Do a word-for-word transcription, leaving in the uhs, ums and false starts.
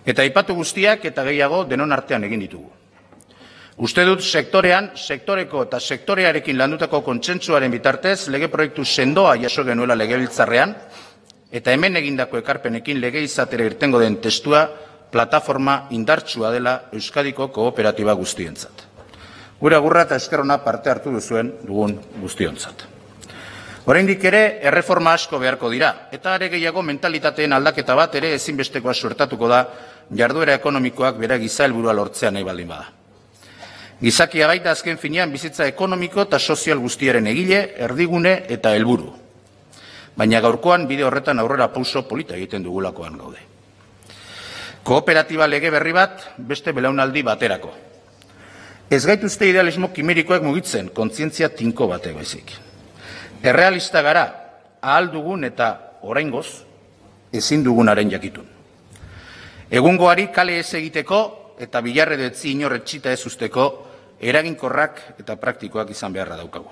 Eta aipatu guztiak eta gehiago denon artean egin ditugu. Uste dut sektorean, sektoreko eta sektorearekin landutako kontsentsuaren bitartez lege proiektu sendoa jaso genuela legebiltzarrean eta hemen egindako ekarpenekin lege izatera irtengo den testua plataforma indartsua dela Euskadiko kooperatiba guztientzat. Gure agurra eta esker ona parte hartu duzuen dugun guztiontzat. Oraindik ere erreforma asko beharko dira eta are gehiago mentalitateen aldaketa bat ere ezinbestekoa suertatuko da jarduera ekonomikoak bere giza helburua lortzea nahi baldin bada. Gizakia baita azken finean bizitza ekonomiko eta sozial guztiaren egile, erdigune eta helburu. Baina gaurkoan bide horretan aurrera pauso polita egiten dugulakoan gaude. Kooperatiba lege berri bat beste belaunaldi baterako. Ez gaituzte idealismo kimerikoak mugitzen, kontzientzia tinko batek baizik. Errealista gara, ahal dugun eta oraingoz ezin dugunaren jakitun. Egungoari kale ez egiteko eta bilarre detzi inor etxita ez usteko eraginkorrak eta praktikoak izan beharra daukagu.